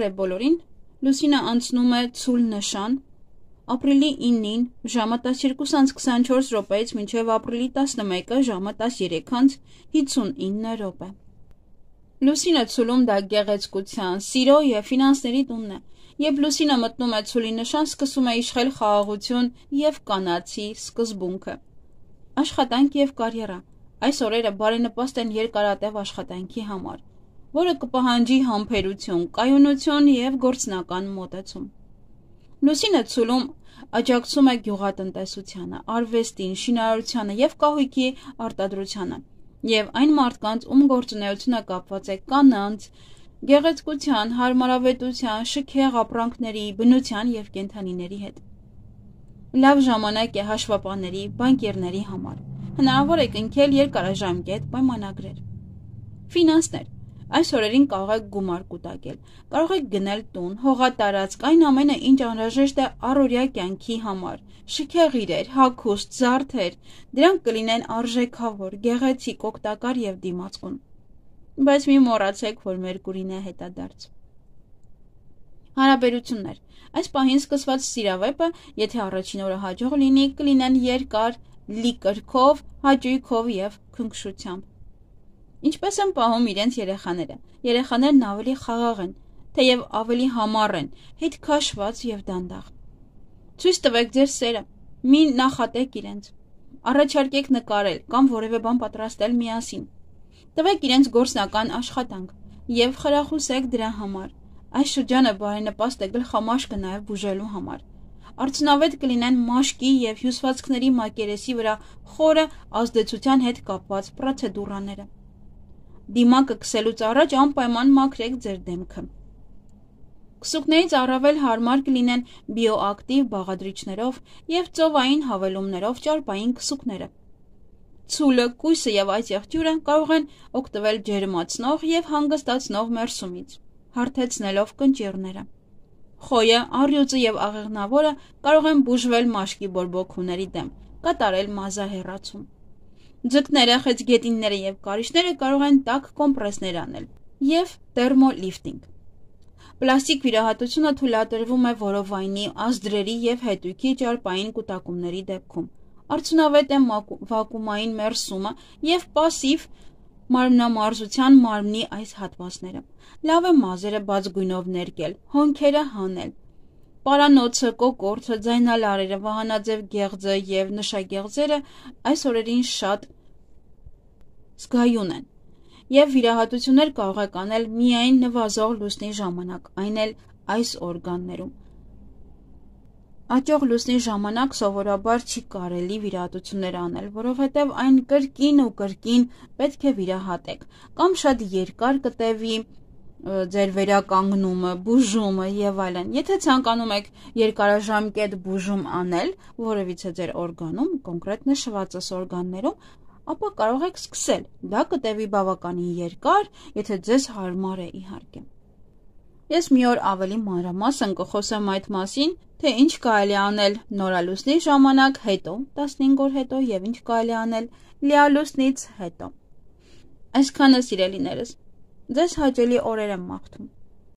է բոլորին, լուսինը անցնում է ցուլ նշան, ապրիլի 9-ին ժամը 12:24 րոպեից մինչև ապրիլի 11-ը ժամը 13:59 րոպե։ Լուսինը ցուլում դա գեղեցկության, սիրո եւ ֆինանսների տունն է։ Երբ լուսինը մտնում է ցուլի նշան, սկսում է իշխել խաղաղություն եւ կանացի սկզբունքը։ Աշխատանք եւ կարիերա։ Այս օրերը բարենպաստ են երկարատև աշխատանքի համար, որը կպահանջի համբերություն, կայունություն եւ գործնական մոտեցում։ Լուսինը ցուլում աջակցում է գյուղատնտեսությանը, արվեստին, շինարարությանը եւ կահույքի արտադրությանը եւ այն մարդկանց, ում գործունեությունը կապված է կանանց, գեղեցկության, հարմարավետության, շքեղ ապրանքների, բնության եւ կենդանիների հետ։ Լավ ժամանակ է հաշվապահների, բանկերների համար։ Հնարավոր է կնքել երկարաժամկետ պայմանագրեր։ Ֆինանսներ։ Այս օրերին կարող եք գումար կուտակել, կարող եք գնել տուն, հողատարածք, այն ամենը, ինչ անհրաժեշտ է առօրյա կյանքի համար, շքեղ իրեր, հագուստ, զարդեր, դրանք կլինեն արժեքավոր, գեղեցիկ, օգտակար եւ դիմացկուն։ Բայց մի մոռացեք, որ Մերկուրին է հետադարձ։ Հարաբերություններ։ Այս պահին սկսված սիրավեպը, եթե առաջին օրը հաջող լինի, կլինեն երկար, լի կրքով, հաճույքով եւ քնքշությամբ։ Ինչպես են պահում իրենց երեխաները։ Երեխաներն ավելի խաղաղ են, թեև ավելի համառ են, հետ քաշված եւ դանդաղ։ Ցույց տվեք ձեր սերը, մի նախատեք իրենց։ Առաջարկեք նկարել կամ որևէ բան պատրաստել միասին։ Տվեք իրենց գործնական աշխատանք եւ խրախուսեք դրա համար։ Այս շրջանը բարենպաստ է գլխամաշկը նաեւ բուժելու համար։ Արդյունավետ կլինեն մաշկի եւ հյուսվածքների մակերեսի վրա խորը ազդեցության հետ կապված պրոցեդուրաները։ Դիմակը քսելուց առաջ անպայման մաքրեք ձեր դեմքը։ Քսուկներից առավել հարմար կլինեն բիոակտիվ բաղադրիչներով եւ ծովային հավելումներով ճարպային քսուկները։ Ցուլը, կույսը եւ այս եղջյուրը կարող են օգտվել ջերմացնող եւ հանգստացնող մերսումից, հարթեցնելով կնճիռները։ Խոյը, առյուծը եւ աղեղնավորը կարող են բուժվել մաշկի բորբոքումների դեմ, կատարել մազահեռացում։ Ձկները, խեցգետինները եւ կարիճները կարող են տաք կոմպրեսներ անել եւ տերմոլիֆտինգ։ Պլաստիկ վիրահատությունը թույլատրվում է որովայնի, ազդրերի եւ հետույքի ճարպային կուտակումների դեպքում։ Արդյունավետ է վակուումային մերսումը եւ պասիվ մարմնամարզության մարմնի այս հատվածները։ Լավ է մազերը բաց գույնով ներկել, հոնքերը հանել։ Պարանոցը, կոկորդը, ձայնալարերը, վահանաձև գեղձը եւ նշագեղձերը այս օրերին շատ զգայուն են եւ վիրահատություններ կարող եք անել միայն նվազող լուսնի ժամանակ, այն էլ այս օրգաններում։ Աճող լուսնի ժամանակ սովորաբար չի կարելի վիրահատություններ անել, որովհետև այն կրկին ու կրկին պետք է վիրահատեք, կամ շատ երկար կտևի ձեր վերականգնումը, բուժումը եւ այլն։ Եթե ցանկանում եք երկարաժամկետ բուժում անել որևիցե ձեր օրգանում, կոնկրետ նշվածս օրգաններում, ապա կարող եք սկսել։ Դա կտևի բավականին երկար, եթե ձեզ հարմար է իհարկե։ Ես մի օր ավելի մանրամասն կխոսեմ այդ մասին, թե ինչ կարելի անել նորալուսնի ժամանակ հետո, 15 օր հետո եւ ինչ կարելի անել լիալուսնից հետո։ Այսքանը սիրելիներս, ձեզ հաճելի օրեր եմ մաղթում։